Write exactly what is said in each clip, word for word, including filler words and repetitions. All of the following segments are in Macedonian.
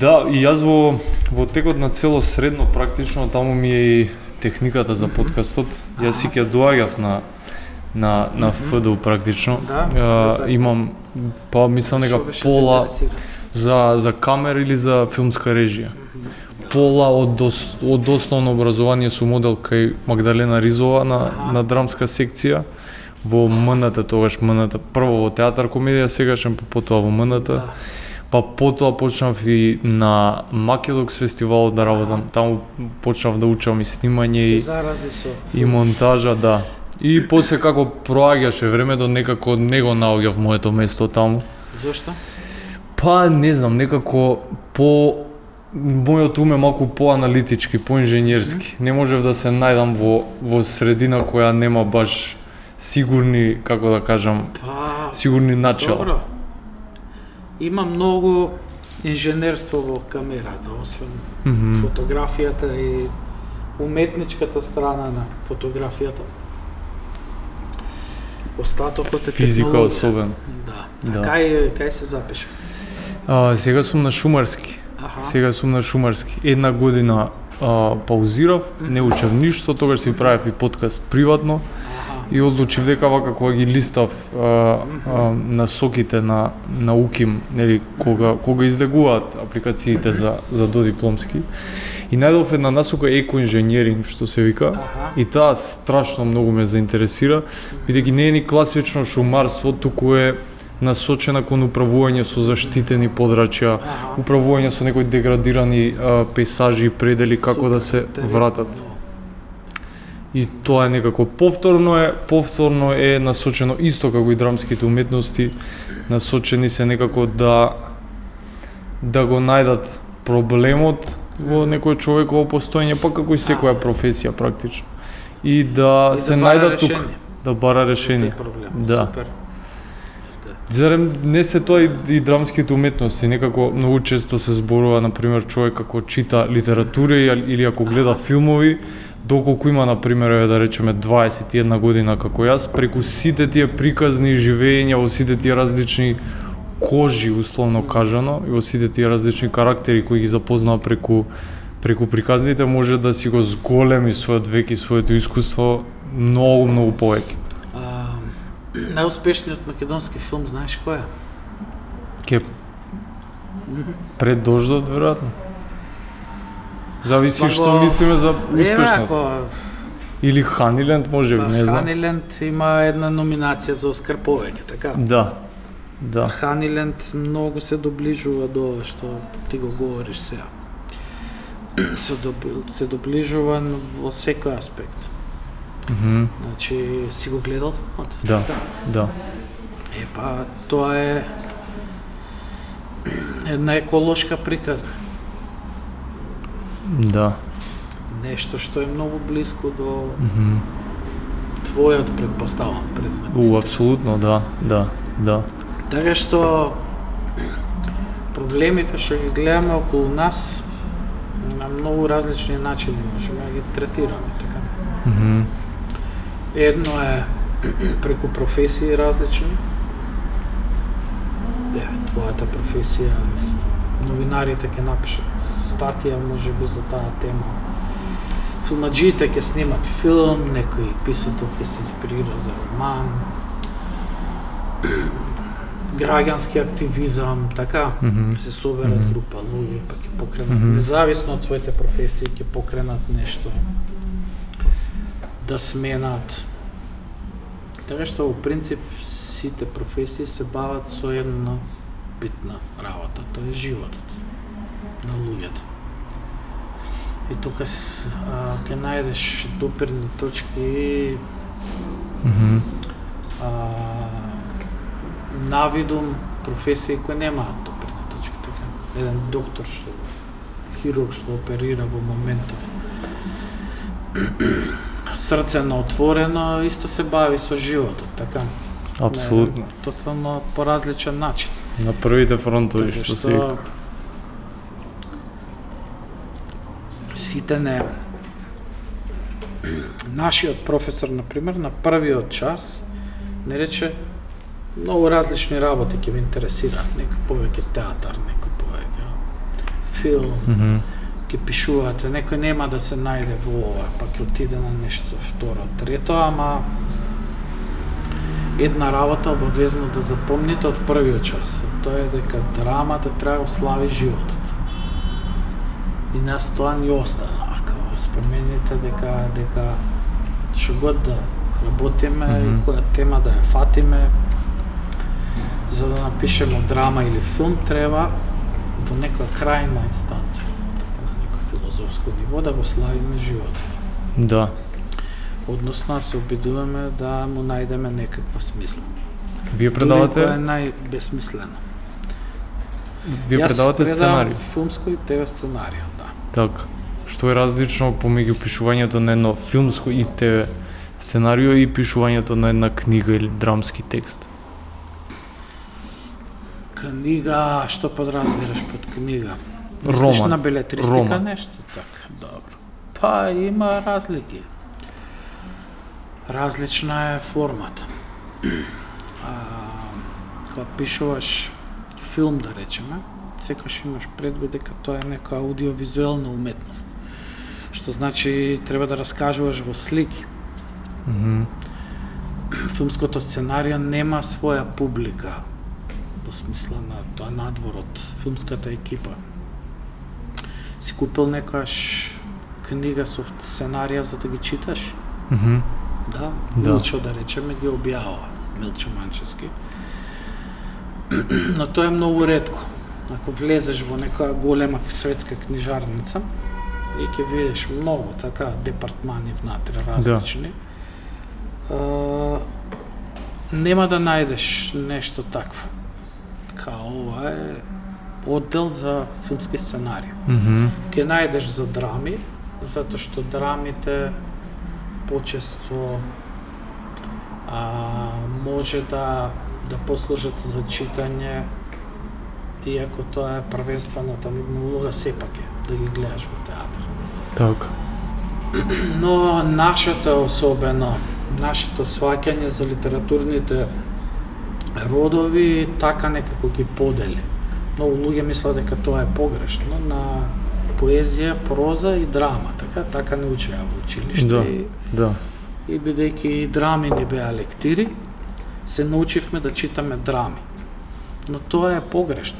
Да, и јас во во текот на цело средно практично таму ми е и техниката за подкастот. Јас си ќе доаѓав на на на Ф Д У практично. Да, uh, имам па мислам дека пола за за камера или за филмска режија. Пола од дос, од основно образование со модел кај Магдалена Ризова на ага. на драмска секција во М Н Т, тогаш М Н Т, прво во театар комедија, сегашен, па потоа во М Н Т. Да. Па потоа почнав и на Македокс фестивалот да работам. Таму почнав да учам и снимање и, и монтажа, да. И после како проаѓаше времето, некако не го наоѓав моето место таму. Зошто? Па не знам, некако по мојот ум е малку поаналитички, поинженерски. Не можев да се најдам во во средина која нема баш сигурни, како да кажам, па, сигурни начала. Добро. Има многу инженерство во камерата, освен mm -hmm. фотографијата и уметничката страна на фотографијата. Остатокот е физика технологија. особено. Да. да. Кај кај се запиша? А, сега сум на Шумарски. Аха. Сега сум на Шумарски. Една година а, паузирав, mm -hmm. не учев ништо, тогаш си правев и подкаст приватно. И одлучив дека вака кога ги листав а, а, насоките на на УКИМ, нели, кога кога издегуваат апликациите за за додипломски. И најдов една насока екоинженеринг, што се вика. Аха. И таа страшно многу ме заинтересира, бидејќи не е ни класично шумарство, туку е насочена кон управување со заштитени подрачја, ага. управување со некои деградирани а, пейсажи и предели, како Супер, да се вратат. И тоа е некако повторно е, повторно е насочено исто како и драмските уметности, насочени се некако да да го најдат проблемот во некој човеково постоење, па како и секоја професија практично. И да и се да најдат тук, да бара решение. Да. Супер. Зарем не се тоа и, и драмските уметности, некако многу често се зборува, например, човек како чита литература или ако гледа филмови, доколку има, например, да речеме дваесет и една година како јас, преку сите тие приказни живења, во сите тие различни кожи, условно кажано, и во сите тие различни карактери кои ги запознава преку преку приказните, може да си го зголеми својот век и своето искуство многу, многу повеќе. Најуспешниот македонски филм, знаеш кој е? Ке Пред дождот, веројатно. Зависи што мислиме за успешност. Или Ханиленд, може би, не знам. Ханиленд има една номинација за Оскар повеќе, така? Да. Да. Ханиленд многу се доближува до ова што ти го говориш сега. Се, доб... се доближува во секој аспект. Mm -hmm. Значи, си го гледал филмот? Да, да. Е, па, тоа е една еколошка приказна. Да. Нешто што е многу близко до mm -hmm. твојот, предпоставам, предмет. У, апсолутно, да, да, да. Така што проблемите што ги гледаме околу нас на многу различни начини можеме да ги третираме, така. Mm -hmm. Едно е преку професии различни. Е, твојата професија, не знам, новинарите ќе напишат статија можеби за таа тема. Филмаджиите ќе снимат филм, некој писател ќе се инспирира за роман. Граѓански активизам, така, mm -hmm. се соберат mm -hmm. група луѓе, па ќе покренат, mm -hmm. независно од своите професии, ќе покренат нешто да сменат. Така што во принцип сите професии се бават со една битна работа, тоа е животот на луѓето. И тука ќе најдеш допирни точки, mm -hmm. а, навидум професии кои немаат допирни точки, така. Еден доктор што хирург што оперира во моментов срце на отворено, исто се бави со животот, така. Апсолутно. Тотално по различен начин. На првите фронтови што, што се сите не. Нашиот професор, например, на првиот час не рече многу различни работи ќе ви интересираат, некој повеќе театар, некој повеќе филм, Mm -hmm. ќе пишувате, некој нема да се најде во ова, па ќе отиде на нешто второ, трето, ама една работа обавезно да запомните од првиот час. Тоа е дека драмата треба да ослави животот. И нас тоа ни остана. Као спомените дека дека што год да работиме mm -hmm. и која тема да ја фатиме, за да напишеме драма или филм, треба во некоја крајна инстанција, така на некој филозофско ниво, да го славиме животот. Да. Односно, се обидуваме да му најдеме некаква смисла. Вие предавате? Дури која е најбесмислено. Вие Јас предавате сценарија? филмско и ТВ сценарија, да. Така. Што е различно помеѓу пишувањето на едно филмско и ТВ сценарио и пишувањето на една книга или драмски текст? Книга, што подразбираш под книга? Роман. Мислиш на белетристика, Роман. нешто така? Добро. Па има разлики. Различна е формата. А, кога пишуваш филм, да речеме, секогаш имаш предвид дека тоа е нека аудиовизуелна уметност. Што значи треба да раскажуваш во слики. Mm -hmm. Филмското сценарио нема своја публика, во смисла на тоа надвор од филмската екипа. Си купил некојаш книга со сценарија за да ги читаш? Mm -hmm. Да, да. Милчо, да речеме, ги објавува, Милчо Манчевски. Но тоа е многу ретко. Ако влезеш во некоја голема светска книжарница и ќе видиш многу така департмани внатре различни, да. а, нема да најдеш нешто такво. Као ова е оддел за филмски сценарии. Mm -hmm. Ќе најдеш за драми, затоа што драмите почесто а, може да да послужат за читање, иако тоа е првенствената улога сепак е да ги гледаш во театар. Така. Но нашето особено, нашето сваќање за литературните родови така некако ги подели. Многу луѓе мислат дека тоа е погрешно на поезија, проза и драма, така така не учеа во училиште. Да, и, да. И бидејќи и драми не беа лектири, се научивме да читаме драми. Но тоа е погрешно.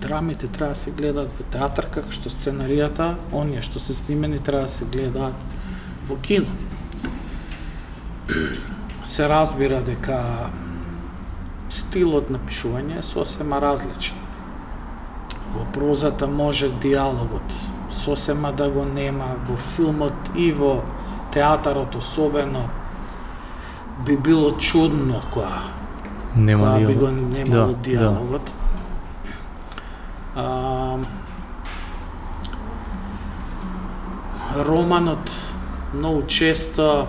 Драмите треба да се гледаат во театар, како што сценаријата, оние што се снимени треба да се гледаат во кино. Се разбира дека стилот на пишување е сосема различен. Во прозата може диалогот сосема да го нема, во филмот и во театарот особено би било чудно кога нема кога би диалог. го немало Да, диалогот. А, романот многу често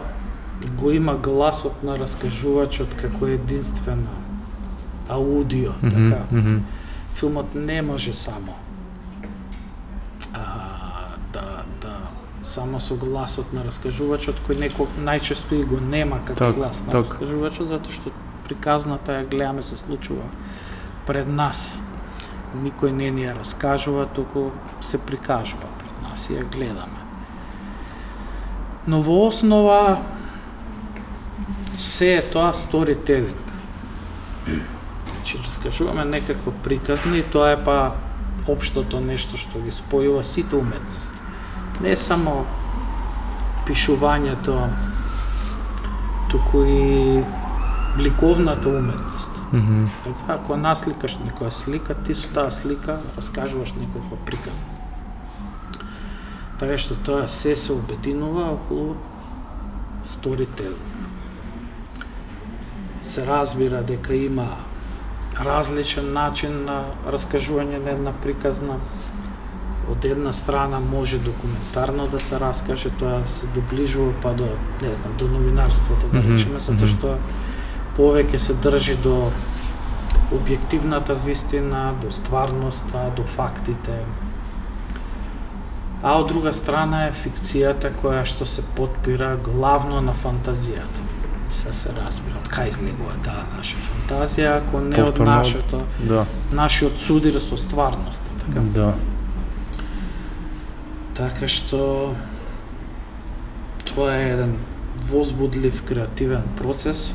го има гласот на раскажувачот како единствено аудио, Mm -hmm, така. mm -hmm. Филмот не може само а, да, да само со гласот на раскажувачот, кој некој најчесто и го нема како так, глас на так. раскажувачот, затоа што приказната ја гледаме се случува пред нас. Никој не ни ја раскажува, туку се прикажува пред нас и ја гледаме. Но во основа се е тоа сторителинг. Значи, раскажуваме некаква приказна и тоа е па општото нешто што ги спојува сите уметности. Не само пишувањето, туку и ликовната уметност. Mm -hmm. Така, ако насликаш некоја слика, ти со таа слика раскажуваш некаква приказна. Така што тоа се се обединува околу сторителинг. Се разбира дека има различен начин на раскажување на една приказна. Од една страна може документарно да се раскаже, тоа се доближува па до, не знам, до новинарството, да речеме, затоа што повеќе се држи до објективната вистина, до стварноста, до фактите. А од друга страна е фикцијата која што се потпира главно на фантазијата. Се се разбира од кај излегува таа наша фантазија, ако не од Повторно, нашето, да. нашиот судир со стварноста, така. Да. Така што тоа е еден возбудлив креативен процес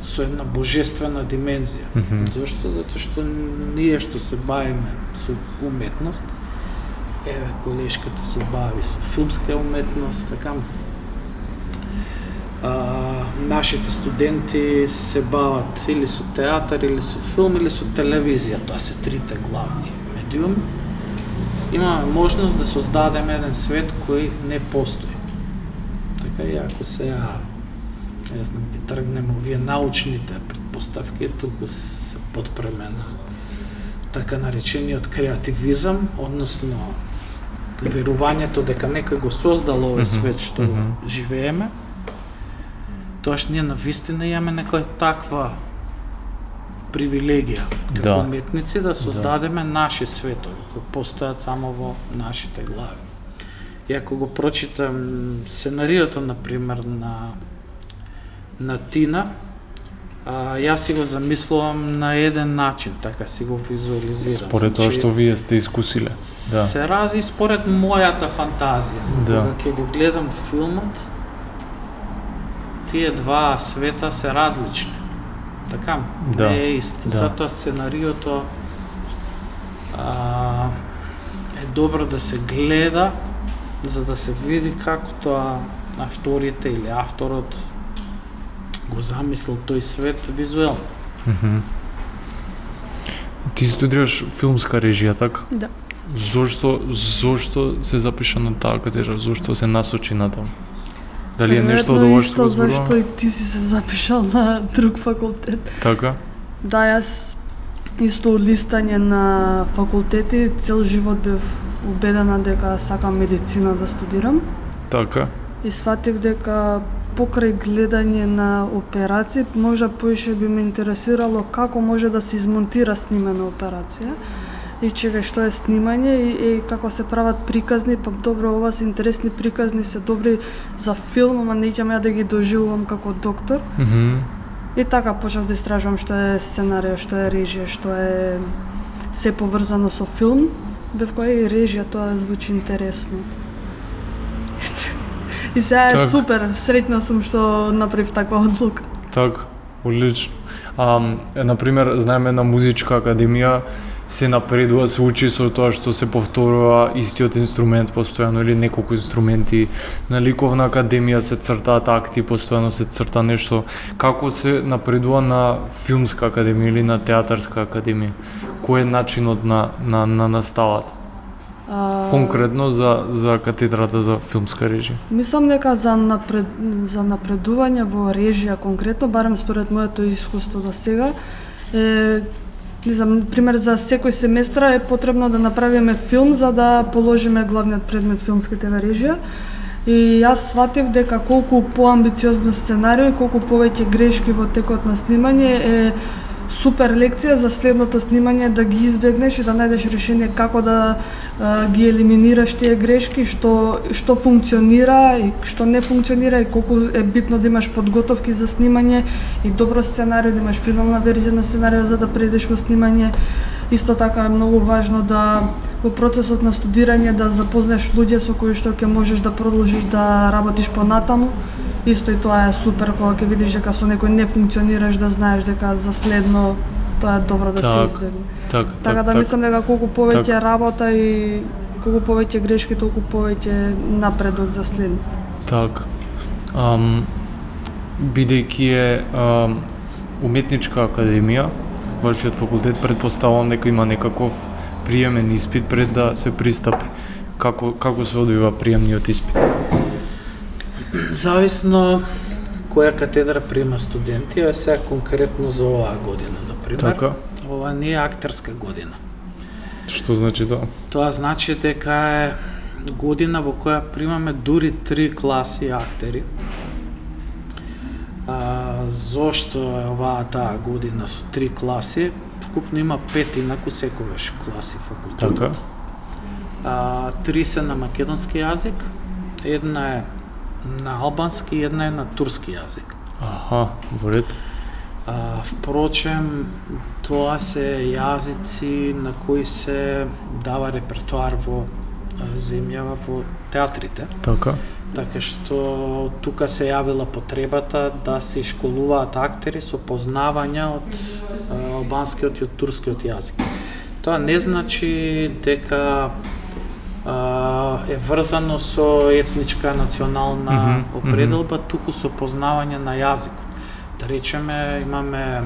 со една божествена димензија. Mm -hmm. Зошто? Затоа што ние што се бавиме со уметност, еве колешката се бави со филмска уметност, така а, нашите студенти се бават или со театар, или со филм, или со телевизија. Тоа се трите главни медиуми. Имаме можност да создадеме еден свет кој не постои. Така и ако сега, не знам, ви тргнеме овие научните предпоставки, туку се подпреме на така наречениот креативизам, односно верувањето дека некој го создал овој свет што mm -hmm. живееме, тоаш ние навистина имаме некоја таква привилегија како да. уметници да создадеме да. наши светови кои постојат само во нашите глави. И ако го прочитам сценариото, например, на на Тина, а, јас си го замислувам на еден начин, така си го визуализирам. Според тоа што вие сте искусиле. Да. Се рази според мојата фантазија. Да. Кога ќе го гледам филмот, тие два света се различни. Така, да. не е ист. Да. Затоа сценариото а, е добро да се гледа, за да се види како тоа авторите или авторот го замислил тој свет визуелно. Mm -hmm. Ти студираш филмска режија, така? Да. Зошто, зошто се запиша на таа катедра? Зошто се насочи на таму? Дали е нешто од ова што го зборувам? Зашто и ти си се запишал на друг факултет. Така? Да, јас исто од листање на факултети цел живот бев убедена дека сакам медицина да студирам. Така? И сватив дека покрај гледање на операции, можда поише би ме интересирало како може да се измонтира снимена операција и чега што е снимање и, и како се прават приказни, пак добро, ова се интересни приказни, се добри за филм, ама не ќе да ги доживувам како доктор. Mm -hmm. И така почнав да истражувам што е сценарија, што е режија, што е се поврзано со филм. Бев која и режија, тоа звучи интересно. И сега е так. Супер, среќна сум што направив таква одлука. Так, одлично. А, например, знаеме на музичка академија се напредува, се учи со тоа што се повторува истиот инструмент постојано или неколку инструменти. На ликовна академија се цртаат акти, постојано се црта нешто. Како се напредува на филмска академија или на театарска академија? Кој е начинот на, на, на наставата? А... Конкретно за, за катедрата за филмска режија? Мислам дека за, напред, за напредување во режија конкретно, барем според моето искуство до сега, е, не знам, пример за секој семестра е потребно да направиме филм за да положиме главниот предмет филмска те ве режија. И јас сватив дека колку поамбициозно сценарио и колку повеќе грешки во текот на снимање е супер лекција за следното снимање, да ги избегнеш и да најдеш решение како да а, ги елиминираш тие грешки, што што функционира и што не функционира и колку е битно да имаш подготовки за снимање и добро сценарио, да имаш финална верзија на сценарио за да предеш во снимање. Исто така е многу важно да во процесот на студирање да запознаеш луѓе со кои што ќе можеш да продолжиш да работиш понатаму. Исто и тоа е супер кога ќе видиш дека со некој не функционираш, да знаеш дека за следно тоа е добро да так, се избегне. Так, така так, да так, мислам дека колку повеќе так. работа и колку повеќе грешки, толку повеќе напредок за следно. Так. Ам, бидејќи е ам, уметничка академија, вашиот факултет, предпоставувам дека има некаков приемен испит пред да се пристапи. Како како се одвива приемниот испит? Зависно која катедра приема студенти, а сега конкретно за оваа година, например. Така. Ова не е актерска година. Што значи тоа? Тоа значи дека е година во која примаме дури три класи актери. А, зошто е оваа таа година со три класи? Вкупно има пет инаку секогаш класи факултетот. Така. А, три се на македонски јазик, една е на албански и една е на турски јазик. Аха, во ред. А, впрочем, тоа се јазици на кои се дава репертуар во земјава во театрите. Така. Така што тука се јавила потребата да се школуваат актери со познавања од албанскиот и од турскиот јазик. Тоа не значи дека а, е врзано со етничка национална mm -hmm, определба, mm -hmm. туку со познавање на јазикот. Да речеме, имаме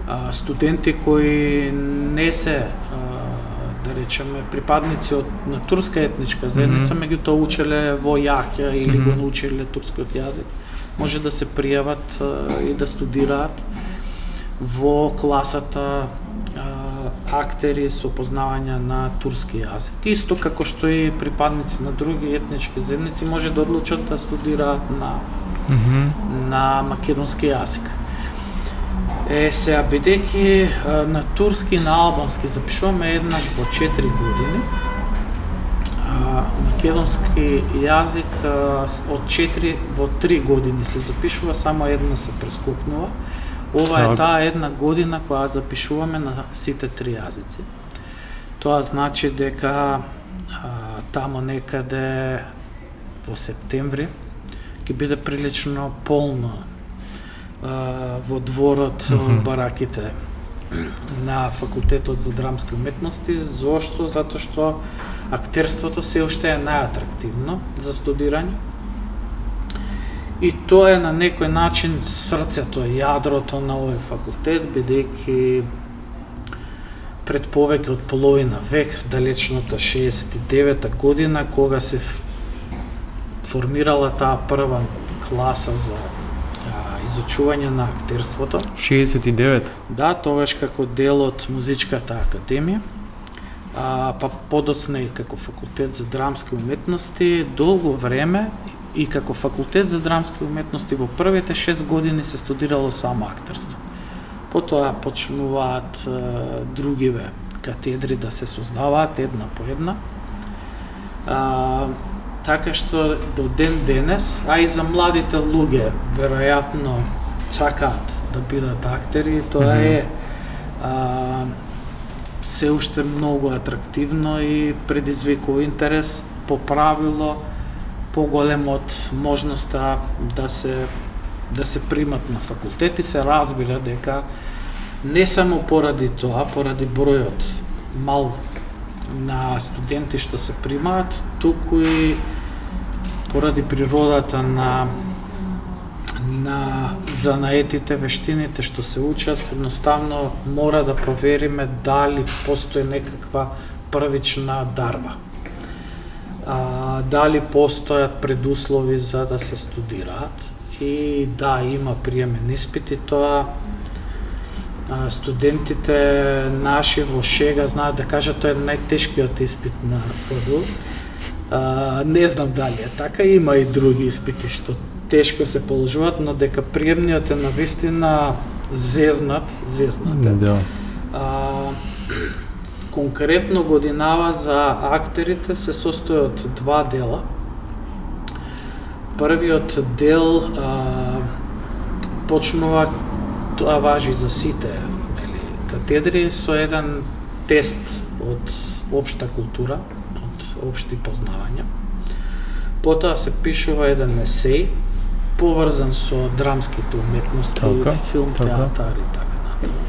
а, студенти кои не се а, да речеме припадници од на турска етничка заедница, mm -hmm. меѓутоа учеле во Јахја или mm -hmm. го научиле турскиот јазик, може да се пријават а, и да студираат во класата а, актери со познавање на турски јазик. Исто како што и припадници на други етнички заедници може да одлучат да студираат на mm -hmm. на македонски јазик. Е, сега, бидејќи на турски и на албански запишуваме еднаш во четири години, а, македонски јазик а, од четири во три години се запишува, само една се прескокнува. Ова е таа една година која запишуваме на сите три јазици. Тоа значи дека а, тамо некаде во септември ќе биде прилично полно во дворот, mm -hmm. бараките на факултетот за драмски уметности. Зошто? Затоа што актерството се уште е најатрактивно за студирање. И тоа е на некој начин срцето, јадрото на овој факултет, бидејќи пред повеќе од половина век, далечната шеесет и девета година, кога се формирала таа прва класа за изучување на актерството. шеесет и девет? Да, тогаш како дел од Музичката академија, а, па подоцна и како факултет за драмски уметности, долго време и како факултет за драмски уметности во првите шест години се студирало само актерство. Потоа почнуваат а, другиве катедри да се создаваат една по една. А, Така што до ден денес, а и за младите луѓе, веројатно сакаат да бидат актери, тоа mm -hmm. е а, се уште многу атрактивно и предизвикува интерес, по правило поголем од можноста да се да се примат на факултети. Се разбира дека не само поради тоа, поради бројот мал на студенти што се примаат, туку и поради природата на на занаетите, вештините што се учат, едноставно мора да провериме дали постои некаква првична дарба. А, дали постојат предуслови за да се студираат. И да, има приемен испит и тоа а, студентите наши во шега знаат да кажат тоа е најтешкиот испит на ФДУ. А, не знам дали е така, има и други испити што тешко се положуваат, но дека приемниот е навистина зезнат, зезнат е. Да. А, конкретно годинава за актерите се состои од два дела. Првиот дел а, почнува, тоа важи за сите или, катедри, со еден тест од општа култура, од општи познавања. Потоа се пишува еден есеј, поврзан со драмските уметности, така, филм, така. Театар и така натаму.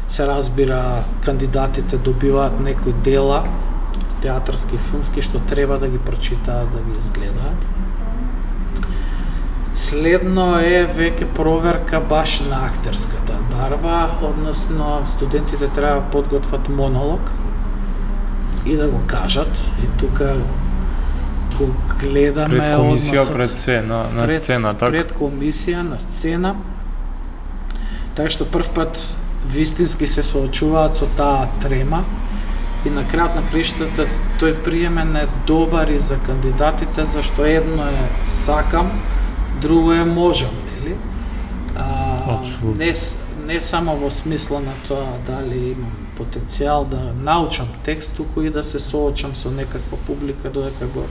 Се разбира, кандидатите добиваат некои дела, театарски, филмски, што треба да ги прочитаат, да ги изгледаат. Следно е веќе проверка баш на актерската дарба, односно студентите треба да подготват монолог и да го кажат. И тука го гледаме пред комисија, односот, пред се, на, на пред, сцена, така? Пред комисија, на сцена. Така што прв пат вистински се соочуваат со таа трема и на крајот на криштата тој приемен е добар и за кандидатите, зашто едно е сакам, друго е можам, нели? А, не, не само во смисла на тоа дали имам потенцијал да научам текст, туку и да се соочам со некаква публика додека го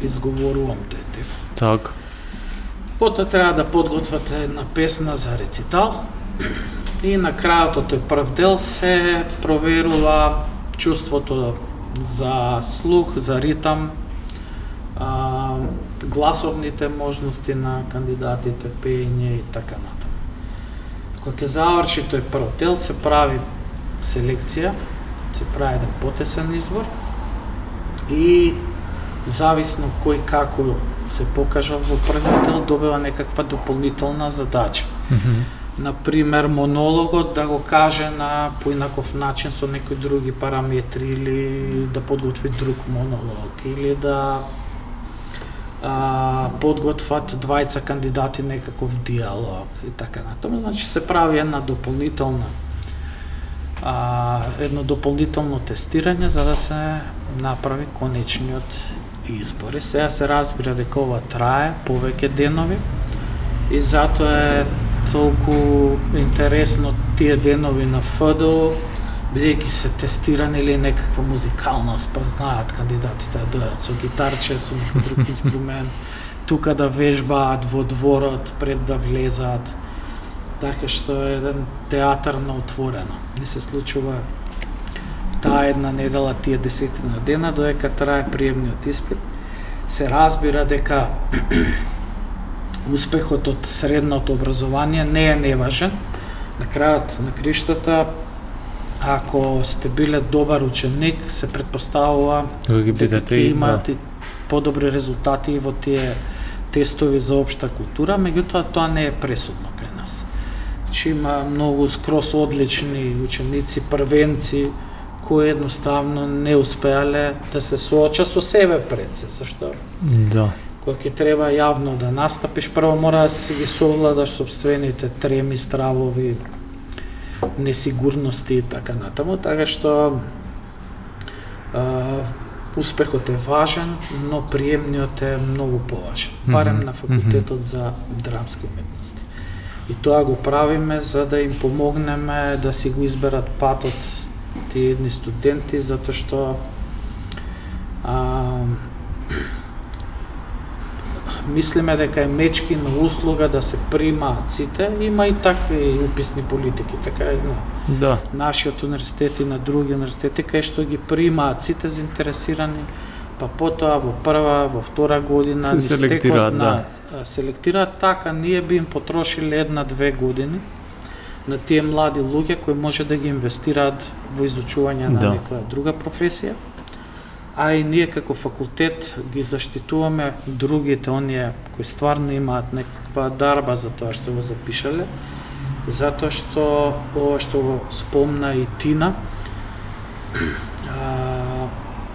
изговорувам тој текст. Так. Потоа треба да подготвате една песна за рецитал и на крајот од тој прв дел се проверува чувството за слух, за ритам, а, гласовните можности на кандидатите, пеење и така натаму. Кога ќе заврши тој прв дел, се прави селекција, се прави еден потесен избор и зависно кој како се покажа во првиот дел, добива некаква дополнителна задача. Мгм. Например, монологот да го каже на поинаков начин со некои други параметри или да подготви друг монолог или да а, подготват двајца кандидати некаков диалог и така натаму. Значи се прави една дополнителна а, едно дополнително тестирање за да се направи конечниот избор. И сега се разбира дека ова трае повеќе денови и затоа е толку интересно тие денови на ФДО, бидејќи се тестирани или некаква музикалност, па знаат кандидатите да дојдат со гитарче, со некој друг инструмент, тука да вежбаат во дворот пред да влезаат. Така што е еден театар на отворено. Не се случува таа една недела, тие десетина дена, додека трае приемниот испит. Се разбира дека успехот од средното образование не е неважен. На крајот на криштата, ако сте биле добар ученик, се предпоставува дека ќе имате подобри резултати во тие тестови за општа култура, меѓутоа тоа не е пресудно кај нас. Значи има многу скрос одлични ученици, првенци, кои едноставно не успеале да се соочат со себе пред се, зашто? Да. Кога ќе треба јавно да настапиш, прво мора да си ги совладаш собствените треми, стравови, несигурности и така натаму, така што а, успехот е важен, но приемниот е многу поважен, барем на факултетот за драмски уметности. И тоа го правиме за да им помогнеме да си го изберат патот тие едни студенти, затоа што а, мислиме дека е мечки на услуга да се примаат сите, има и такви уписни политики, така е на Да. нашиот универзитет и на други универзитети, кај што ги примаат сите заинтересирани, па потоа во прва, во втора година Се ни селектираат, стекот да. на селектираат така, ние би им потрошиле една-две години на тие млади луѓе кои може да ги инвестираат во изучување на Да. некоја друга професија, а и ние како факултет ги заштитуваме другите, оние кои стварно имаат некаква дарба за тоа што го запишале, затоа што ова што го спомна и Тина, а,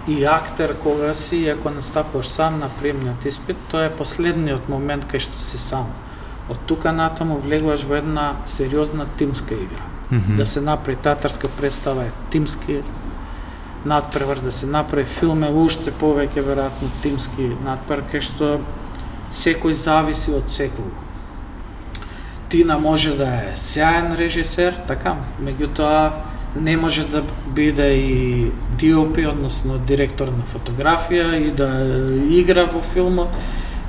и актер кога си, и ако настапуваш сам на приемниот испит, тоа е последниот момент кај што си сам. Од тука натаму влегуваш во една сериозна тимска игра. Мгм. Да се направи театарска представа е тимски надпревар, да се направи филм е уште повеќе веројатно тимски надпревар, кај што секој зависи од секој. Тина може да е сјаен режисер, така, меѓутоа не може да биде и ди о пи, односно директор на фотографија и да игра во филмот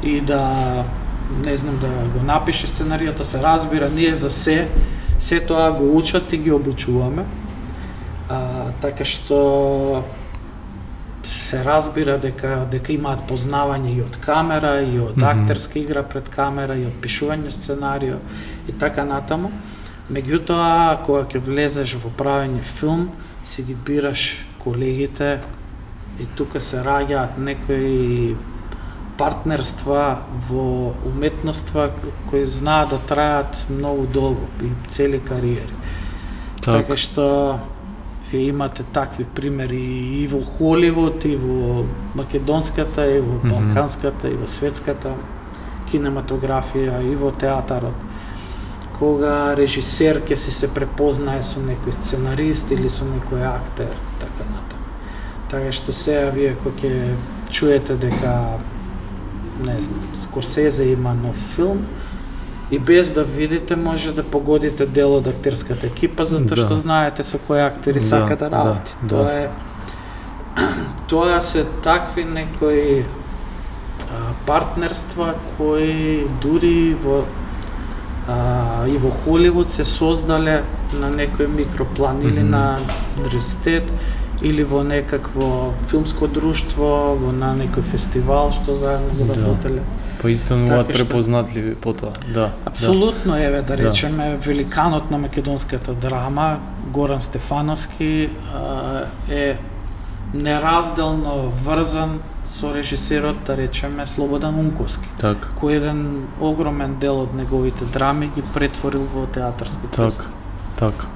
и да не знам да го напише сценаријата, се разбира, ние за се се тоа го учат и ги обучуваме. А, така што се разбира дека дека имаат познавање и од камера, и од Мгм. актерска игра пред камера, и од пишување сценарио и така натаму. Меѓутоа, кога ќе влезеш во правење филм, си ги бираш колегите и тука се раѓаат некои партнерства во уметноства кои знаат да траат многу долго и цели кариери. Така. Така што вие имате такви примери и во Холивуд, и во македонската, и во Мгм. балканската, и во светската кинематографија, и во театарот. Кога режисер ќе си се препознае со некој сценарист или со некој актер, така натаму. Така што сега вие кога ќе чуете дека не знам, Скорсезе има нов филм, и без да видите може да погодите дел од актерската екипа, затоа што Да. знаете со кои актери Да, сака да да, работи. да. Тоа е тоа се такви некои а, партнерства кои дури во а, и во Холивуд се создале на некој микроплан или Мгм. на универзитет или во некакво филмско друштво, во на некој фестивал што заедно го работеле. Па истануваат препознатливи по тоа, да. Апсолутно, еве да речеме, великанот на македонската драма, Горан Стефановски, е неразделно врзан со режисерот, да речеме, Слободан Унковски, так. кој еден огромен дел од неговите драми ги претворил во театарски представи. Так, так.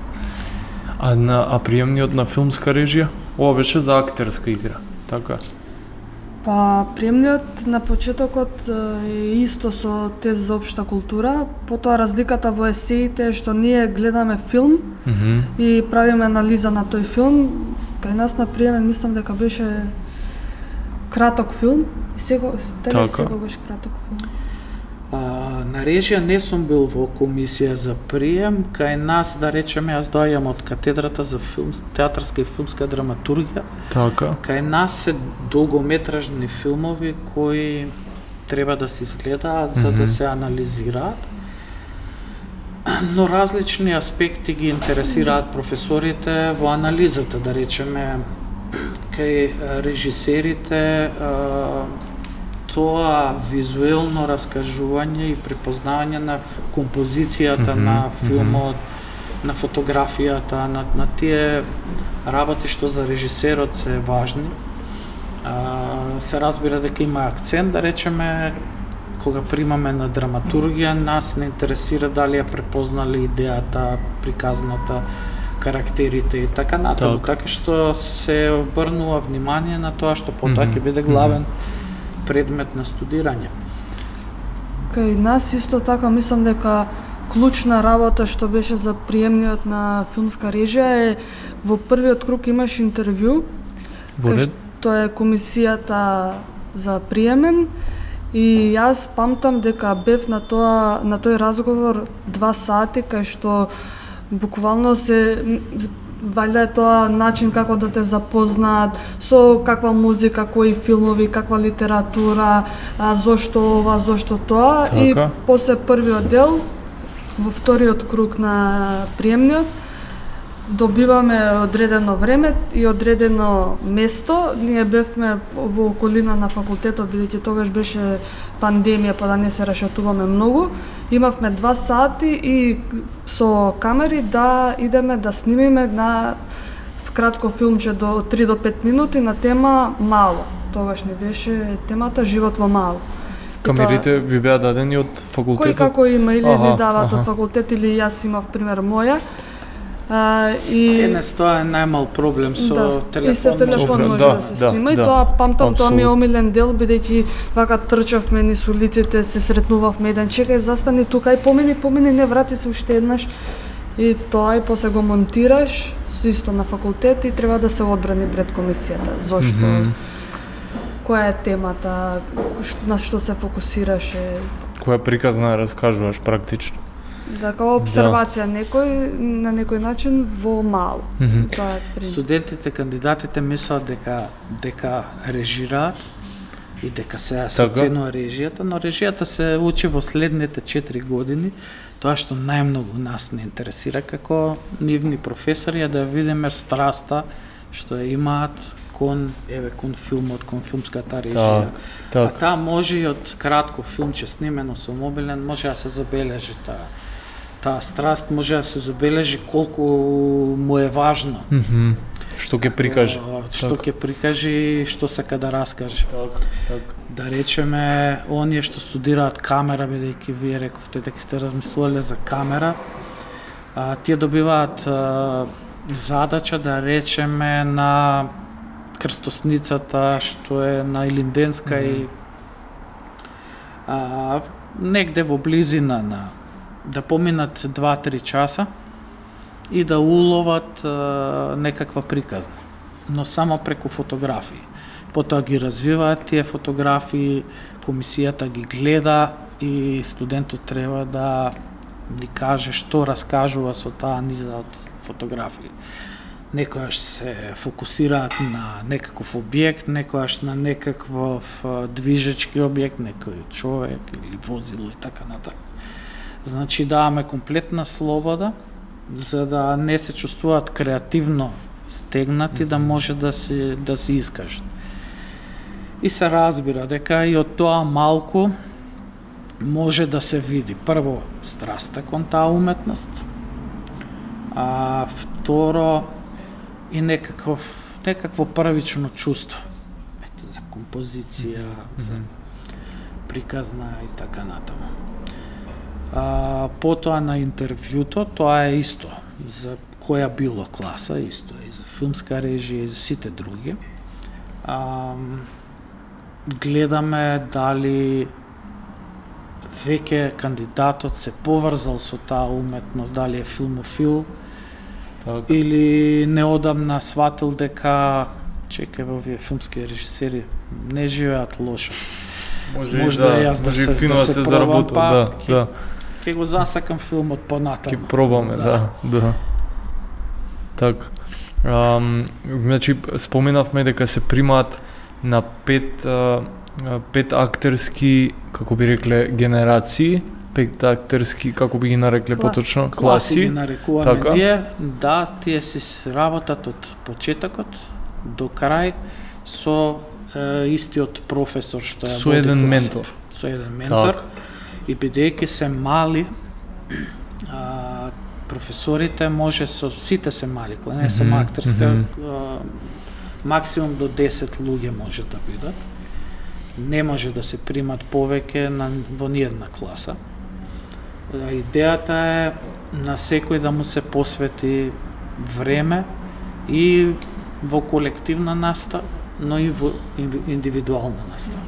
А на а приемниот на филмска режија, ова беше за актерска игра, така? Па приемниот на почетокот е исто со тест за општа култура, потоа разликата во есеите е што ние гледаме филм mm -hmm. и правиме анализа на тој филм. Кај нас на приемен мислам дека беше краток филм, и сега теле сега беше краток филм. А, на режија не сум бил во комисија за прием, кај нас, да речеме, јас доаѓам од катедрата за филм, театарска и филмска драматургија. Така. Кај нас се долгометражни филмови кои треба да се изгледаат за mm -hmm. да се анализираат. Но различни аспекти ги интересираат професорите во анализата, да речеме, кај режисерите, тоа визуелно раскажување и препознавање на композицијата mm -hmm, на филмот, mm -hmm. на фотографијата, на, на тие работи што за режисерот се важни. А, се разбира дека има акцент, да речеме, кога примаме на драматургија, нас не интересира дали ја препознали идејата, приказната, карактерите и така натаму, так. така што се обрнува внимание на тоа што потоа ќе mm -hmm. биде главен предмет на студирање. Кај нас исто така мислам дека клучна работа што беше за приемниот на филмска режија е во првиот круг имаш интервју, кај што е комисијата за приемен, и јас памтам дека бев на тоа на тој разговор два сати, кај што буквално се валјда е тоа начин како да те запознаат со каква музика, кои филмови, каква литература, а, зошто ова, зошто тоа. Така. И после првиот дел, во вториот круг на приемниот, добиваме одредено време и одредено место. Ние бевме во околина на факултетот, бидејќи тогаш беше пандемија, па да не се рашетуваме многу. Имавме два сати и со камери да идеме да снимиме на кратко филмче до три до пет минути на тема мало. Тогаш не беше темата живот во мало. Камерите ви беа дадени од факултетот? Кој како има, или аха, ни дават аха. од факултет, или јас имав пример моја. А, и Денес тоа е најмал проблем со да, телефон. И со телефон може да, да се снима, да, и да, тоа памтам, абсолютно. Тоа ми е омилен дел, бидејќи вака трчавме низ улиците, се сретнувавме еден, чекај, застани тука и помини, помини, не врати се уште еднаш. И тоа и после го монтираш, исто на факултет, и треба да се одбрани пред комисијата. Зошто? Mm -hmm. Која е темата, на што се фокусираше? Која приказна раскажуваш практично? Да, као обсервација да. некој на некој начин во мало. Mm -hmm. Тоа е студентите, кандидатите мислат дека дека режираат и дека се оценува режијата, но режијата се учи во следните четири години. Тоа што најмногу нас не интересира како нивни професори е да видиме страста што ја имаат кон еве кон филмот, кон филмската режија. Так, так. А таа може и од кратко филмче снимено со мобилен може да се забележи таа таа страст, може да се забележи колку му е важно. Mm -hmm. Што ќе прикаже. Што ќе прикаже и што сака да раскаже. Так, так. Да речеме, оние што студираат камера, бидејќи вие рековте дека сте размислувале за камера, а, тие добиваат а, задача, да речеме, на крстосницата што е на Илинденска mm -hmm. и а, негде во близина на да поминат два-три часа и да уловат а, некаква приказна, но само преку фотографии. Потоа ги развиваат тие фотографии, комисијата ги гледа и студентот треба да ни каже што раскажува со таа низа од фотографии. Некојаш се фокусираат на некаков објект, некојаш на некаков движечки објект, некој човек или возило и така натаму. Значи даваме комплетна слобода за да не се чувствуваат креативно стегнати да може да се да се искажат. И се разбира дека и од тоа малку може да се види прво страста кон таа уметност, а второ и некаков некакво првично чувство. Ете, за композиција, mm-hmm. за приказна и така натаму. А, потоа на интервјуто, тоа е исто за која било класа, исто е и за филмска режија и за сите други. А, гледаме дали веќе кандидатот се поврзал со таа уметност, дали е филмофил, так. Или неодамна сватил дека чекај во овие филмски режисери не живеат лошо. Може, може да, јас да се, фино да се, се заработил, па, да, ке, да. Ке го засакам филмот понатаму. Ке пробаме, да, да. да. Така. Um, значи споменавме дека се примаат на пет uh, пет актерски, како би рекле, генерации, пет актерски, како би ги нарекле Клас. поточно, класи. Класи ги нарекуваме така. Ние, да, тие си работат од почетокот до крај со е, истиот професор што ја со еден ментор. Со еден ментор. Так. И бидејќи се мали, а, професорите може со сите се мали, не е само актерска, mm -hmm. а, максимум до десет луѓе може да бидат. Не може да се примат повеќе на во ниедна класа. Идејата е на секој да му се посвети време и во колективна настава, но и во индивидуална настава.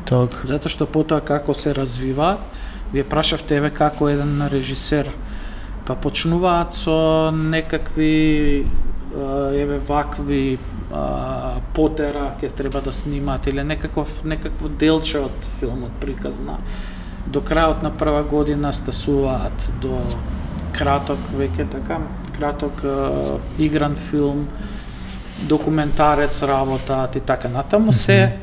Так. Затоа што потоа како се развива, вие прашавте еве како еден режисер, па почнуваат со некакви еве вакви а, потера ќе треба да снимаат или некаков некакво делче од филмот приказна. До крајот на прва година стасуваат до краток веќе така, краток а, игран филм, документарец работаат и така натаму се.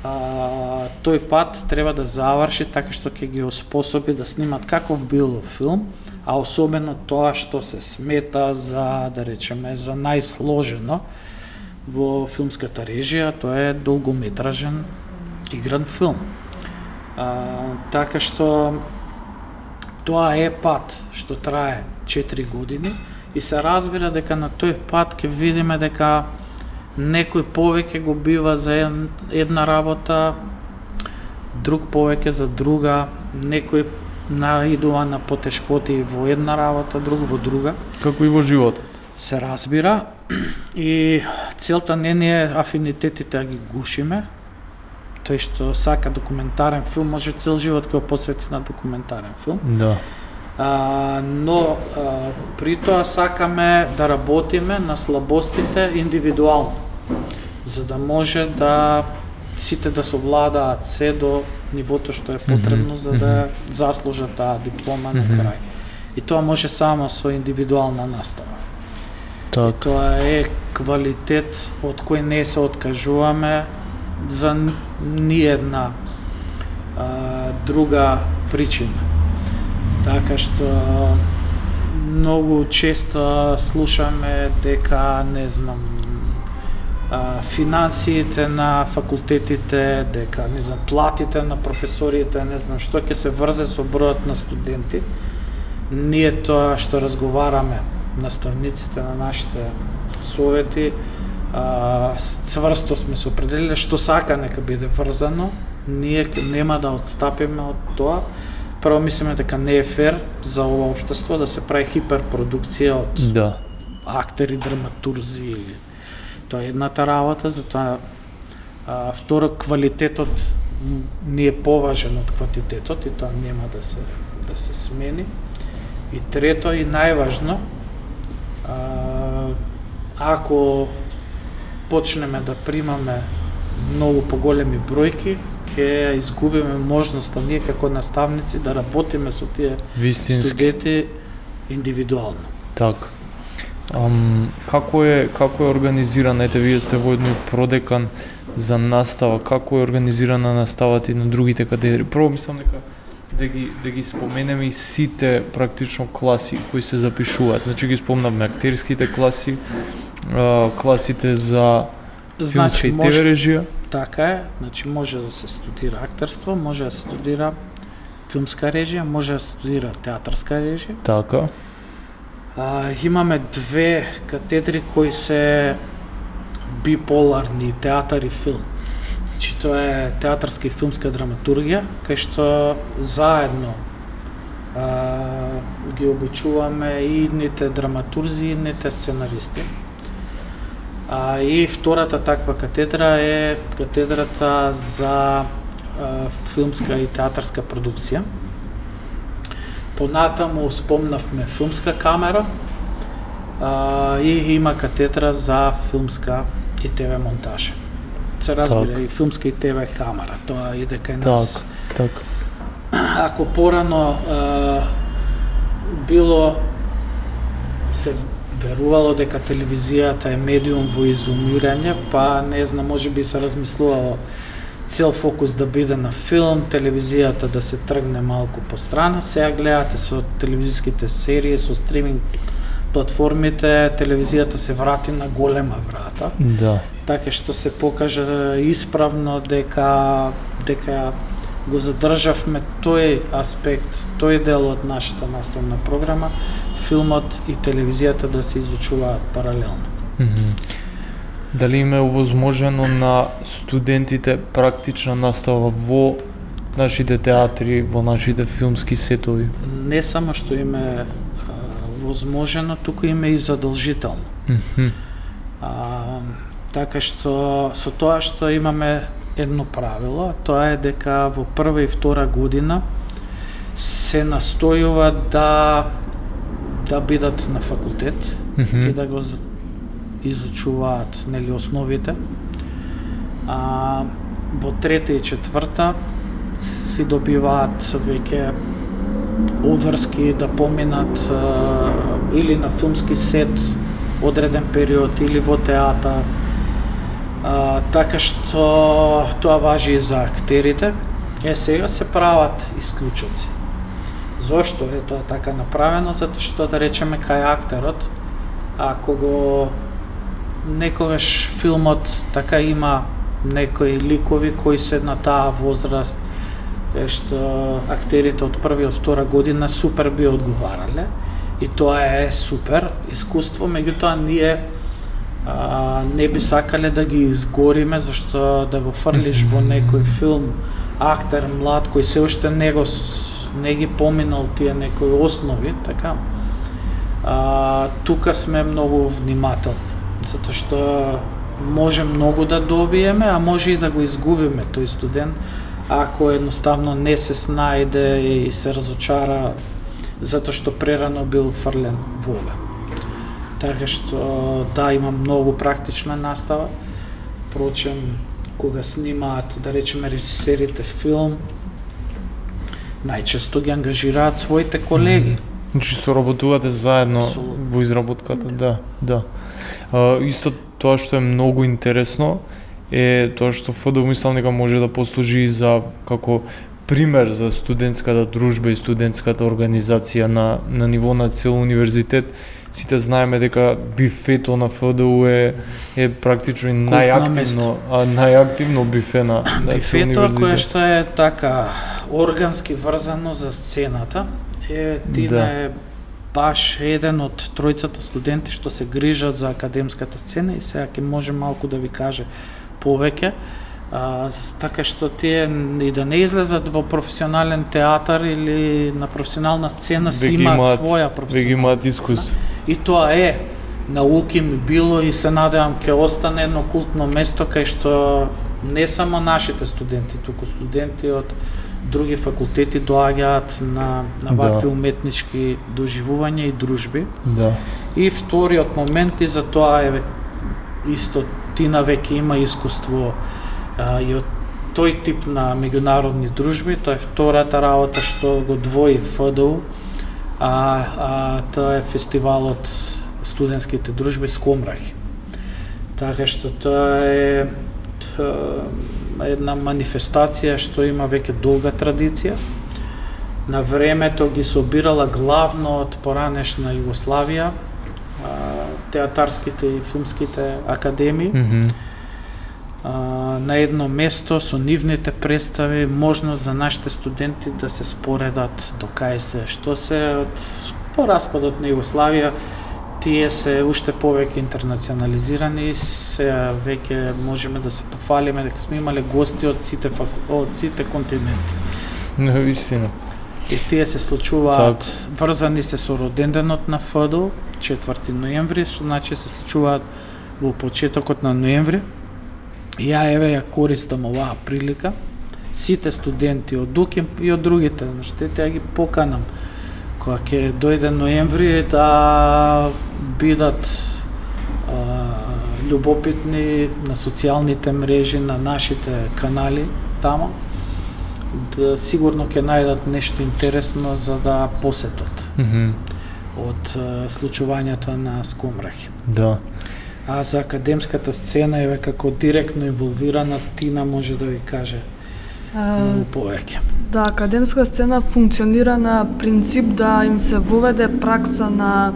А, тој пат треба да заврши така што ќе ги оспособи да снимат каков било филм, а особено тоа што се смета за, да речеме, за најсложено во филмската режија, тоа е долгометражен игран филм. А, така што тоа е пат што трае четири години и се разбира дека на тој пат ќе видиме дека некој повеќе го бива за една работа, друг повеќе за друга, некој наидува на потешкоти во една работа, друг во друга. Како и во животот. Се разбира и целта не ни е афинитетите да ги гушиме. Тој што сака документарен филм може цел живот ќе го посвети на документарен филм. Да. А, но а, при тоа сакаме да работиме на слабостите индивидуално, за да може да сите да совладаат се до нивото што е потребно, mm-hmm. за да заслужат таа диплома на крај. И тоа може само со индивидуална настава. Так. И тоа е квалитет од кој не се откажуваме за ниедна а, друга причина. Така што многу често слушаме дека, не знам, а, финансиите на факултетите, дека, не знам, платите на професорите, не знам, што ќе се врзе со бројот на студенти. Ние тоа што разговараме, наставниците на нашите совети, а, цврсто сме се определили што сака нека биде врзано, ние нема да отстапиме од тоа. Прво мислиме дека не е фер за ова општество да се прави хиперпродукција од да. актери, драматурзи или тоа е едната работа, затоа а, второ квалитетот не е поважен од квантитетот и тоа нема да се да се смени. И трето и најважно, а, ако почнеме да примаме многу поголеми бројки, ќе изгубиме можноста ние како наставници да работиме со тие вистински студенти индивидуално. Така. Um, како е како е организирана, ете вие сте воедно и продекан за настава, како е организирана наставата и на другите катедри? Прво мислам дека да ги да ги споменеме и сите практично класи кои се запишуваат. Значи ги спомнавме актерските класи, а, класите за филмска Значи, и може- ТВ режија? Така е, значи може да се студира актерство, може да се студира филмска режија, може да се студира театарска режија. Така. А, имаме две катедри кои се биполарни, театар и филм. Значи тоа е театарска и филмска драматургија, кај што заедно а, ги обучуваме и идните драматурзи, и идните сценаристи. А, и втората таква катедра е катедрата за а, филмска и театарска продукција. Понатаму спомнавме филмска камера а, и има катедра за филмска и ТВ монтажа. Се разбира, Так. и филмска и ТВ камера, тоа иде кај нас. Так, така. Ако порано а, било се верувало дека телевизијата е медиум во изумирање, па не знам, може би се размислувало цел фокус да биде на филм, телевизијата да се тргне малку по страна. Сега гледате со телевизиските серии, со стриминг платформите, телевизијата се врати на голема врата, Да. така што се покажа исправно дека дека го задржавме тој аспект, тој дел од нашата наставна програма, филмот и телевизијата да се изучуваат паралелно. Мгм. Дали им е овозможено на студентите практична настава во нашите театри, во нашите филмски сетови? Не само што им е а, возможено, туку им е и задолжително. Мгм. А, така што со тоа што имаме едно правило, а тоа е дека во прва и втора година се настојува да да бидат на факултет Мгм. и да го за- изучуваат нели основите. А во трета и четврта си добиваат веќе обврски да поминат а, или на филмски сет одреден период или во театар. А, така што тоа важи и за актерите. Е, сега се прават исклучоци. Зошто е тоа така направено? Затоа што, да речеме, кај актерот, ако го некогаш филмот така има некои ликови кои се на таа возраст, кај што актерите од прва и од втора година супер би одговарале, и тоа е супер искуство, меѓутоа ние а, не би сакале да ги изгориме, зашто да го фрлиш во некој филм актер млад кој се уште не го с- не ги поминал тие некои основи, така. А, тука сме многу внимателни, затоа што може многу да добиеме, а може и да го изгубиме тој студент ако едноставно не се снајде и се разочара затоа што прерано бил фрлен во ова. Така што да, има многу практична настава. Впрочем, кога снимаат, да речеме, режисерите филм, најчесто ги ангажираат своите колеги. Значи соработувате заедно Апсолутно. во изработката, да, да. А, исто тоа што е многу интересно е тоа што ФДУ мислам дека може да послужи и за како пример за студентската дружба и студентската организација на на ниво на цел универзитет. Сите знаеме дека бифето на ФДУ е е практично и најактивно, а најактивно бифе на на цел Бифето кое универзитет. што е така органски врзано за сцената, е Тина Да. е баш еден од тројцата студенти што се грижат за академската сцена и сега ќе може малку да ви каже повеќе. А, за- така што тие и да не излезат во професионален театар или на професионална сцена си Веќе имаат имаат- своја Веќе професионална. имаат искуство. И тоа е науки ми било и се надевам ќе остане едно култно место кај што не само нашите студенти, туку студенти од други факултети доаѓаат на на вакви Да. уметнички доживувања и дружби. Да. И вториот момент и за тоа е исто Тина веќе има искуство а, и од тој тип на меѓународни дружби, тоа е втората работа што го двои ФДУ, а, а тоа е фестивалот студентските дружби Скомрахи. Така што тоа е т- една манифестација што има веќе долга традиција. На времето ги собирала главно од поранешна Југославија, а, театарските и филмските академии. Mm -hmm. а, на едно место со нивните представи можност за нашите студенти да се споредат до кај се, што се од по распадот на Југославија, тие се уште повеќе интернационализирани и се веќе можеме да се пофалиме дека сме имале гости од сите од сите континенти. Не, вистина. И тие се случуваат врзани се со роденденот на ФДУ, четврти ноември, што значи се случуваат во почетокот на ноември. И ја еве ја користам оваа прилика сите студенти од УКИМ и од другите универзитети ја ги поканам кога ќе дојде ноември да бидат а, љубопитни на социјалните мрежи, на нашите канали тамо, да сигурно ќе најдат нешто интересно за да посетат Mm -hmm. од а, случувањата на Скомрахи. Да. А за академската сцена, еве како директно инволвирана, Тина може да ви каже многу повеќе. Да, академска сцена функционира на принцип да им се воведе пракса на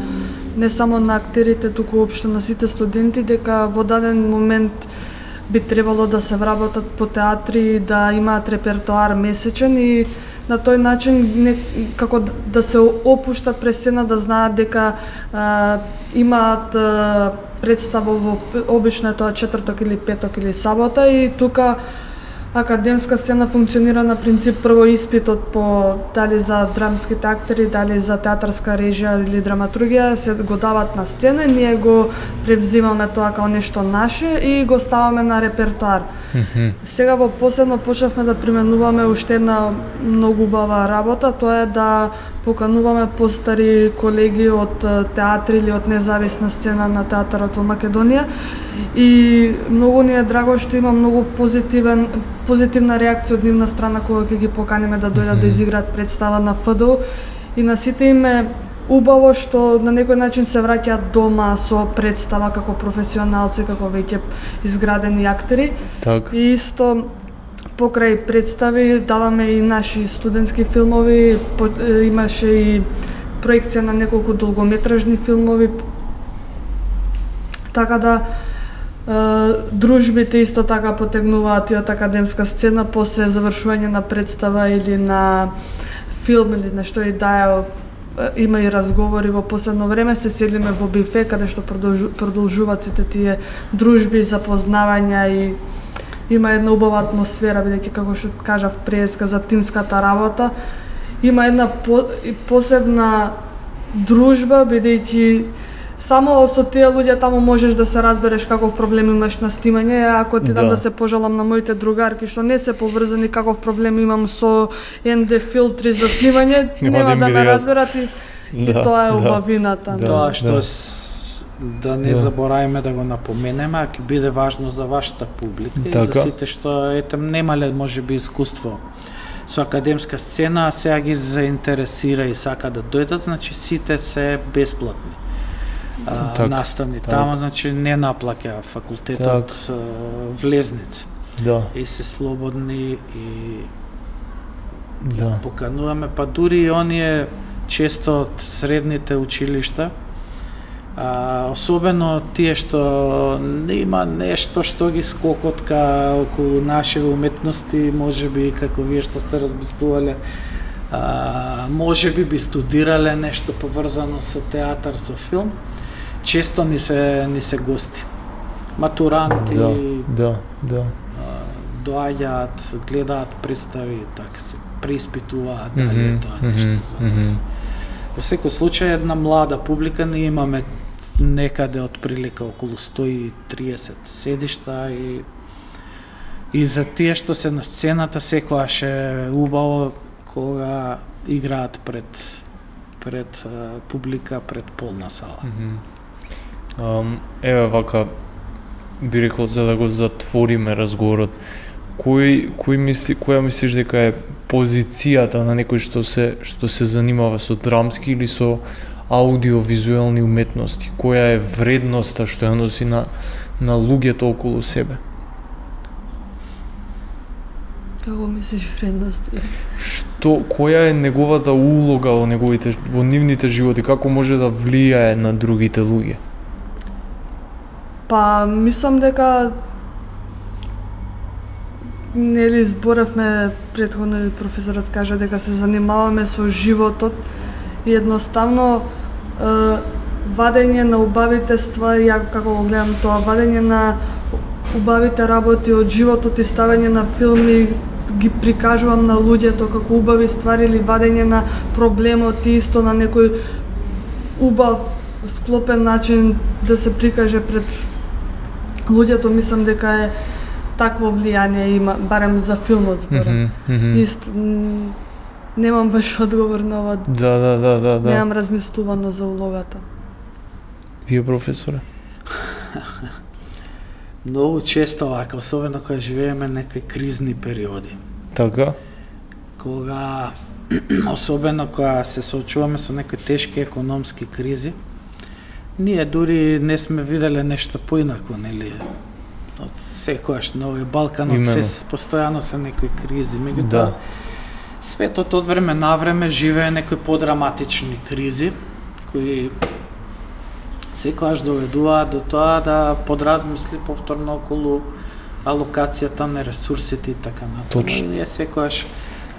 не само на актерите, туку општо на сите студенти, дека во даден момент би требало да се вработат по театри, да имаат репертоар месечен и на тој начин не, како да се опуштат пред сцена, да знаат дека а, имаат а, представа во обично тоа четврток или петок или сабота и тука академска сцена функционира на принцип прво испитот по дали за драмските актери, дали за театарска режија или драматургија се го дават на сцена, ние го превзимаме тоа како нешто наше и го ставаме на репертоар. Mm -hmm. Сега во последно почнавме да применуваме уште една многу убава работа, тоа е да покануваме постари колеги од театри или од независна сцена на театарот во Македонија и многу ни е драго што има многу позитивен позитивна реакција од нивна страна кога ќе ги поканиме да дојдат mm -hmm. да изиграат представа на ФДУ и на сите им е убаво што на некој начин се враќаат дома со представа како професионалци, како веќе изградени актери. Так. И исто покрај представи даваме и наши студентски филмови, по, имаше и проекција на неколку долгометражни филмови. Така да дружбите исто така потегнуваат и од академска сцена после завршување на представа или на филм или нешто и да има и разговори во последно време, се селиме во бифе каде што продолжуваат сите тие дружби, запознавања и има една убава атмосфера, бидејќи како што кажав преска за тимската работа, има една по, посебна дружба, бидејќи само со тие луѓе таму можеш да се разбереш каков проблем имаш на снимање. Ако ти дам да, да се пожалам на моите другарки што не се поврзани каков проблем имам со ен де филтри за снимање, нема да, да ме разберат и, да, и тоа е убавината. Да, тоа што да. Да не да. забораваме да го напоменеме, а ќе биде важно за вашата публика така. И за сите што ете немале можеби искуство со академска сцена, а сега ги заинтересира и сака да дојдат, значи сите се бесплатни. А, так, настани так. Тама, значи не наплаќа факултетот так. влезници. Да. И се слободни и да. покануваме, па дури и оние често од средните училишта, а, особено тие што има нешто што ги скокотка околу наши уметности, можеби како вие што сте размислувале, а, можеби би студирале нешто поврзано со театар, со филм, често ни се ни се гости. Матуранти, да, да, да. доаѓаат, гледаат представи, така се преиспитуваат дали mm -hmm, тоа нешто mm -hmm, за. Во секој случај една млада публика, ние имаме некаде од прилика околу сто и триесет седишта и и за тие што се на сцената секогаш е убаво кога играат пред пред uh, публика, пред полна сала. Mm -hmm. um, еве вака би рекол за да го затвориме разговорот. Кој кој мисли која мислиш дека е позицијата на некој што се што се занимава со драмски или со аудиовизуелни уметности? Која е вредноста што ја носи на на луѓето околу себе? Како мислиш вредности? Што која е неговата улога во неговите во нивните животи, како може да влијае на другите луѓе? Па, мислам дека нели зборевме претходно и професорот кажа дека се занимаваме со животот и едноставно е, вадење на убавите ствари, ја како го гледам тоа, вадење на убавите работи од животот и ставење на филми, ги прикажувам на луѓето како убави ствари или вадење на проблемот и исто на некој убав склопен начин да се прикаже пред луѓето, мислам дека е такво влијание има, барем за филмот зборам. Mm -hmm. Исто, немам баш одговор на ова. Да, да, да, да, да. Немам размислувано за улогата. Вие, професоре? Многу често вака, особено кога живееме некои кризни периоди. Така? Кога, особено кога се соочуваме со некои тешки економски кризи, ние дури не сме виделе нешто поинако, нели? Од секојаш на овој Балканот се постојано се некои кризи, меѓутоа да. Светот од време на време живее некои подраматични кризи кои секојаш доведуваат до тоа да подразмисли повторно околу алокацијата на ресурсите и така натаму. Точно. Ние секојаш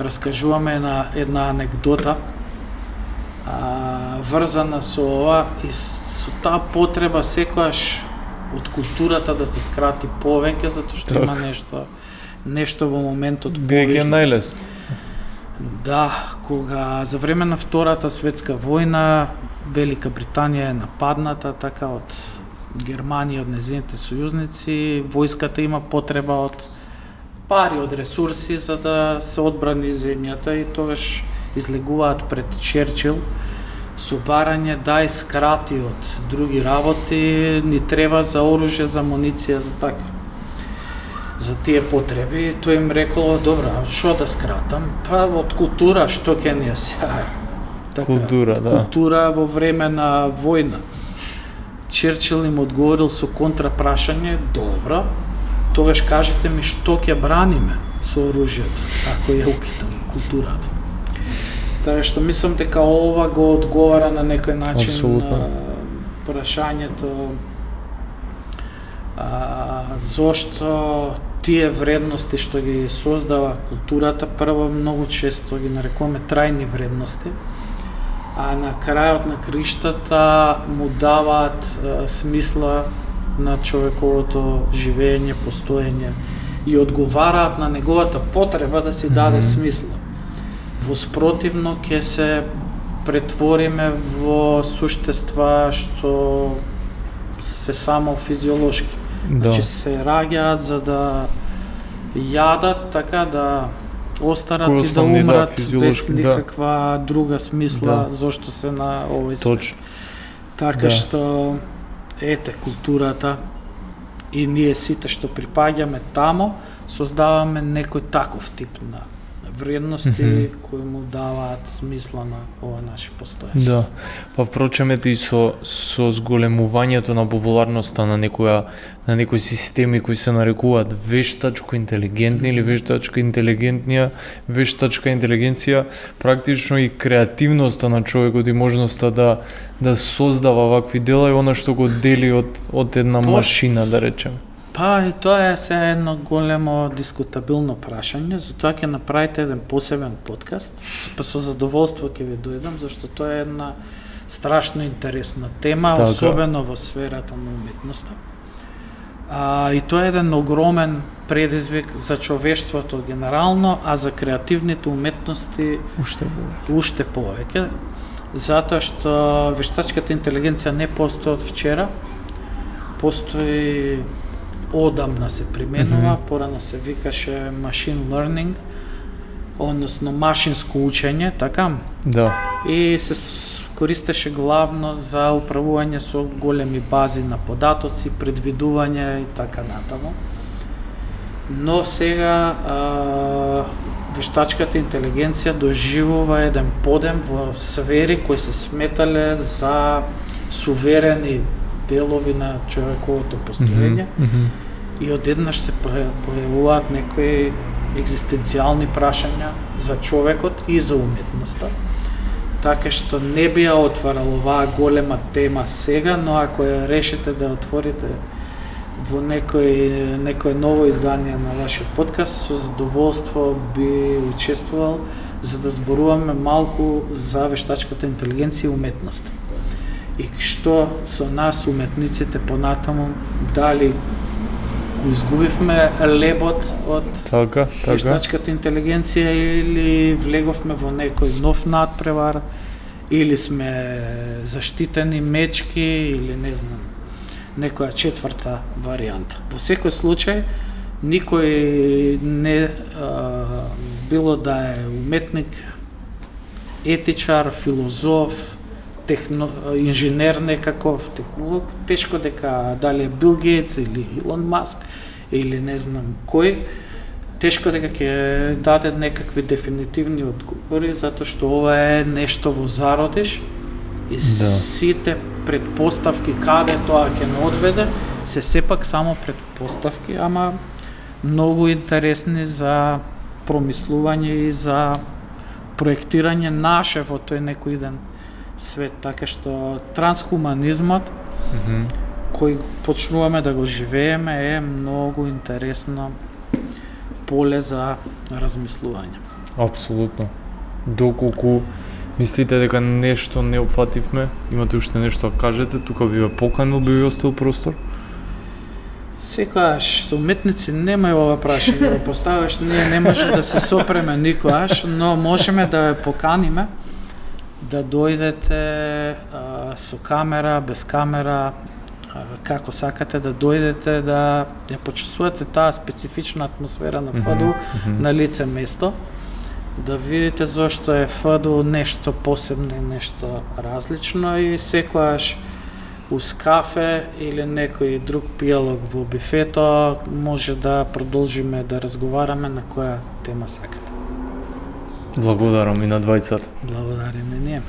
раскажуваме на една анекдота а, врзана со ова и со таа потреба секојаш од културата да се скрати повеќе, затоа што так. Има нешто нешто во моментот повеќе најлесно. Да, кога за време на Втората светска војна Велика Британија е нападната така од Германија, од незините сојузници, војската има потреба од пари, од ресурси за да се одбрани земјата и тогаш излегуваат пред Черчил со барање да искрати од други работи, ни треба за оружје, за амуниција, за така. За тие потреби, тој им рекол, добра, што да скратам? Па од култура, што ќе ни сега? Така, култура, да. Култура во време на војна. Черчил им одговорил со контрапрашање, добро, тогаш кажете ми што ќе браниме со оружјето, ако ја укитам културата. Така што мислам дека ова го одговара на некој начин Абсолютно. на прашањето а, зошто тие вредности што ги создава културата, прво многу често ги нарекуваме трајни вредности, а на крајот на криштата му даваат а, смисла на човековото живење, постоење и одговараат на неговата потреба да си даде mm-hmm. смисла. Во спротивно ќе се претвориме во суштества што се само физиолошки. Да. Значи се раѓаат за да јадат, така да остарат Кој и да умрат да, без никаква да. друга смисла Да. зошто се на овој свет. Точно. Така Да. што ете културата и ние сите што припаѓаме тамо создаваме некој таков тип на вредности mm-hmm. кои му даваат смисла на ова наше постоење. Да. Па впрочем ете и со со зголемувањето на популарноста на некоја на некои системи кои се нарекуваат вештачко интелигентни или вештачка интелигентнија, вештачка интелигенција, практично и креативноста на човекот и можноста да да создава вакви дела и она што го дели од од една Тоа... машина, да речем. Па и тоа е се едно големо дискутабилно прашање, затоа ќе направите еден посебен подкаст, па со задоволство ќе ви дојдам, зашто тоа е една страшно интересна тема, така. Особено во сферата на уметноста. А, и тоа е еден огромен предизвик за човештвото генерално, а за креативните уметности уште повеќе. Уште повеќе, затоа што вештачката интелигенција не постои од вчера, постои одамна се применува, mm-hmm. порано се викаше machine learning, односно машинско учење, така? Да. И се користеше главно за управување со големи бази на податоци, предвидување и така натаму. Но сега а, вештачката интелигенција доживува еден подем во сфери кои се сметале за суверени делови на човековото постоење mm -hmm. и одеднаш се појавуваат некои екзистенцијални прашања за човекот и за уметноста. Така што не би ја отварал оваа голема тема сега, но ако ја решите да отворите во некој некое ново издание на вашиот подкаст, со задоволство би учествувал за да зборуваме малку за вештачката интелигенција и уметноста. И што со нас уметниците понатаму, дали го изгубивме лебот од така, така. вештачката интелигенција или влеговме во некој нов надпревар, или сме заштитени мечки, или не знам, некоја четврта варијанта. Во секој случај, никој не а, било да е уметник, етичар, филозоф, техно, инженер некаков, технолог, тешко дека дали е Бил Гейтс или Илон Маск или не знам кој, тешко дека ќе даде некакви дефинитивни одговори, затоа што ова е нешто во зародиш и да. Сите предпоставки каде тоа ќе не одведе се сепак само предпоставки, ама многу интересни за промислување и за проектирање наше во тој некој ден свет, така што трансхуманизмот mm-hmm. кој почнуваме да го живееме е многу интересно поле за размислување. Апсолутно. Доколку мислите дека нешто не опфативме, имате уште нешто да кажете, тука би ве поканил, би ви оставил простор? Секогаш со уметници нема ова прашање да го поставаш, ние не може да се сопреме никогаш, но можеме да ве поканиме да дојдете а, со камера, без камера, а, како сакате да дојдете да ја почувствувате таа специфична атмосфера на ФДУ mm-hmm. на лице место, да видите зошто е ФДУ нешто посебно и нешто различно и секогаш уз кафе или некој друг пијалок во бифето може да продолжиме да разговараме на која тема сакате. Благодарам и на двајцата. Благодариме ние.